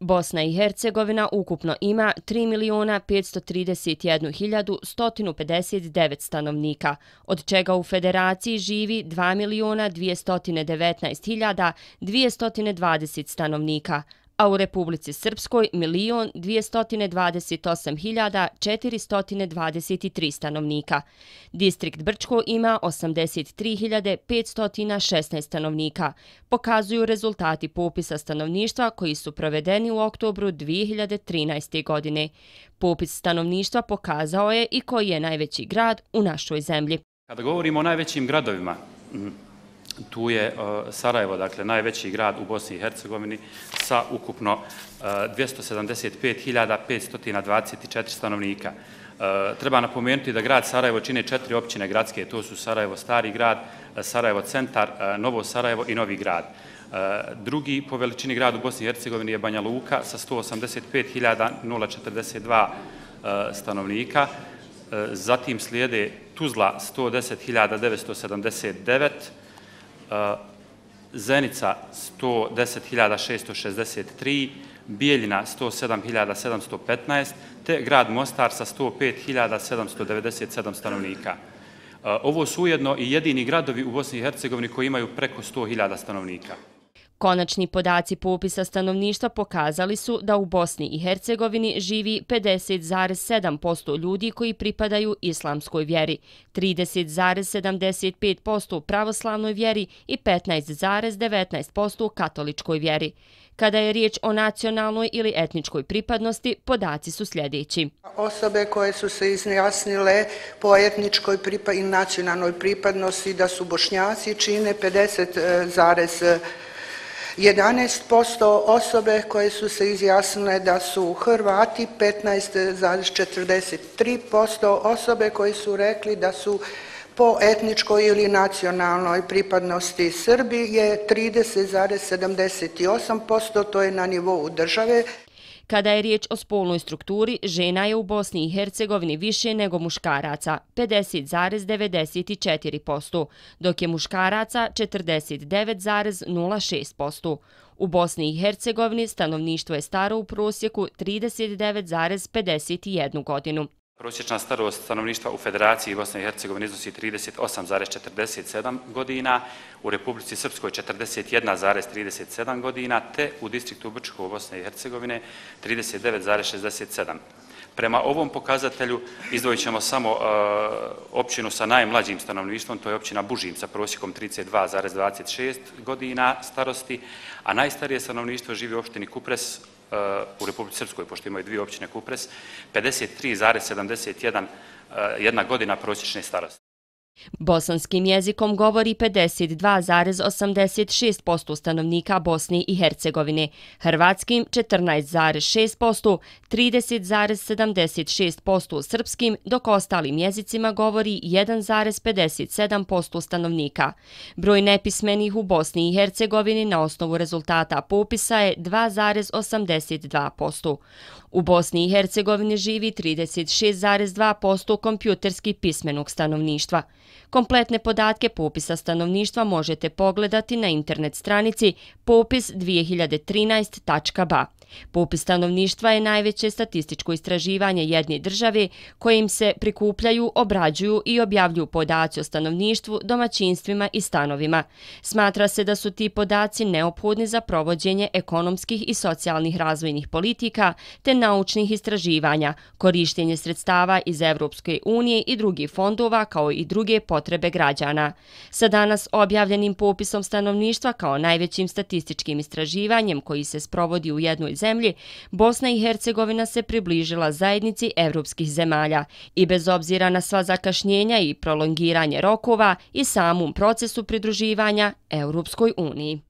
Bosna i Hercegovina ukupno ima 3.531.159 stanovnika, od čega u Federaciji živi 2.219.220 stanovnika, a u Republici Srpskoj 1.228.423 stanovnika. Distrikt Brčko ima 83.516 stanovnika, pokazuju rezultati popisa stanovništva koji su provedeni u oktobru 2013. godine. Popis stanovništva pokazao je i koji je najveći grad u našoj zemlji. Kada govorimo o najvećim gradovima, tu je Sarajevo, dakle najveći grad u Bosni i Hercegovini sa ukupno 275.524 stanovnika. Treba napomenuti da grad Sarajevo čine 4 općine gradske, to su Sarajevo Stari grad, Sarajevo Centar, Novo Sarajevo i Novi grad. Drugi po veličini grad u Bosni i Hercegovini je Banja Luka sa 185.042 stanovnika. Zatim slijede Tuzla 110.979, Zenica 110.663, Bijeljina 107.715, te grad Mostar sa 105.797 stanovnika. Ovo su ujedno i jedini gradovi u Bosni i Hercegovini koji imaju preko 100.000 stanovnika. Konačni podaci popisa stanovništva pokazali su da u Bosni i Hercegovini živi 50,7% ljudi koji pripadaju islamskoj vjeri, 30,75% pravoslavnoj vjeri i 15,19% katoličkoj vjeri. Kada je riječ o nacionalnoj ili etničkoj pripadnosti, podaci su sljedeći. Osobe koje su se izjasnile po etničkoj i nacionalnoj pripadnosti da su Bošnjaci čine 50,11%, osobe koje su se izjasnile da su Hrvati 15,43%, osobe koji su rekli da su po etničkoj ili nacionalnoj pripadnosti Srbi je 30,78%, to je na nivou države. Kada je riječ o spolnoj strukturi, žena je u Bosni i Hercegovini više nego muškaraca, 50,94%, dok je muškaraca 49,06%. U Bosni i Hercegovini stanovništvo je staro u prosjeku 39,51 godinu. Prosječna starost stanovništva u Federaciji Bosne i Hercegovine iznosi 38,47 godina, u Republici Srpskoj 41,37 godina, te u distriktu Brčko Bosne i Hercegovine 39,67. Prema ovom pokazatelju izdvojit ćemo samo općinu sa najmlađim stanovništvom, to je općina Bužim sa prosjekom 32,26 godina starosti, a najstarije stanovništvo živi u opštini Kupres u Republici Srpskoj, pošto imaju dvije općine Kupres, 53,71 godina prosječne starosti. Bosanskim jezikom govori 52,86% stanovnika Bosne i Hercegovine, hrvatskim 14,6%, 30,76% srpskim, dok ostalim jezicima govori 1,57% stanovnika. Broj nepismenih u Bosni i Hercegovini na osnovu rezultata popisa je 2,82%. U Bosni i Hercegovini živi 36,2% kompjuterski pismenog stanovništva. Kompletne podatke popisa stanovništva možete pogledati na internet stranici popis2013.ba. Popis stanovništva je najveće statističko istraživanje jedne države kojim se prikupljaju, obrađuju i objavljuju podaci o stanovništvu, domaćinstvima i stanovima. Smatra se da su ti podaci neophodni za provođenje ekonomskih i socijalnih razvojnih politika te naučnih istraživanja, korištenje sredstava iz Evropske unije i drugih fondova kao i druge potrebe građana. Sa danas objavljenim popisom stanovništva kao najvećim statističkim istraživanjem koji se sprovodi u jednoj zemlji, Bosna i Hercegovina se približila zajednici evropskih zemalja i bez obzira na sva zakašnjenja i prolongiranje rokova i samom procesu pridruživanja Europskoj uniji.